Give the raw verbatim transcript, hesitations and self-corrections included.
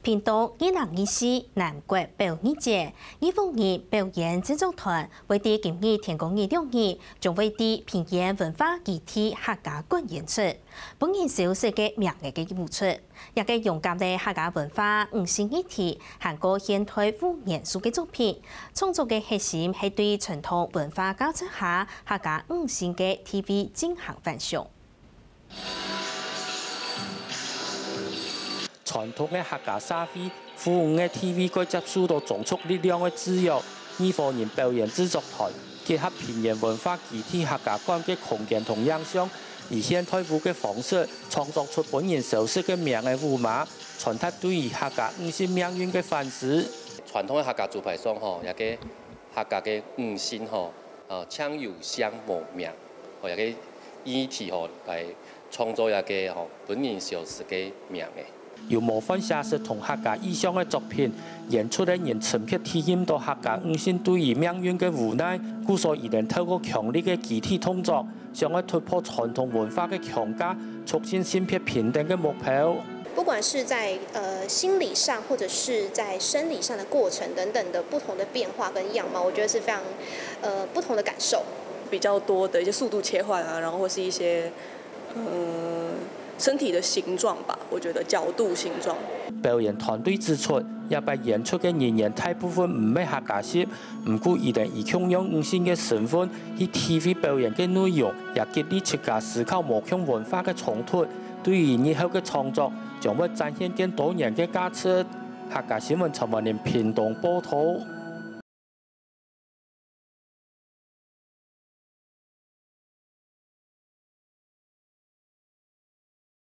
屏東二零二四南國表演節，二五日表演製作團會在今日天光日六日，將會在屏園文化基地客家館演出，分人消失个名仔个舞出。這个勇敢个客家文化五線一體，還過現代舞元素个作品，創作个核心係對傳統文化價值下客家五線个地位進行反思。 傳統个客家社會，婦女个地位會接受到宗族力量个制約。義和人表演製作團結合屏園文化基地客家館个空間同影像，以現代舞个方式創作出分人消失个名仔舞碼，傳達對於客家女性命運个反思。傳統个客家做派上吼，這个客家个女性吼，呃，像有姓無名，吼，這个議題吼，來創作這个吼，分人消失个名仔。由模範寫實同客家意象个作品，演出个人深刻體驗到客家女性對於命運个無奈，故所佢等透過強烈个肢體動作，想愛突破傳統文化个框架，促進性別平等个目標。不管是在呃心理上，或者是在生理上的过程等等的不同的变化跟样貌，我觉得是非常呃不同的感受。比较多的一些速度切换啊，然后或是一些呃身体的形状吧，我觉得角度、形状。表演團隊指出，這擺演出个人員大部分毋係客家籍，毋過佢等以共樣女性个身份去體會表演个內容，也激勵自家思考無共文化个衝突。對於日後个創作，將會展現更多元个價值。客家新聞陳婉玲屏東報導。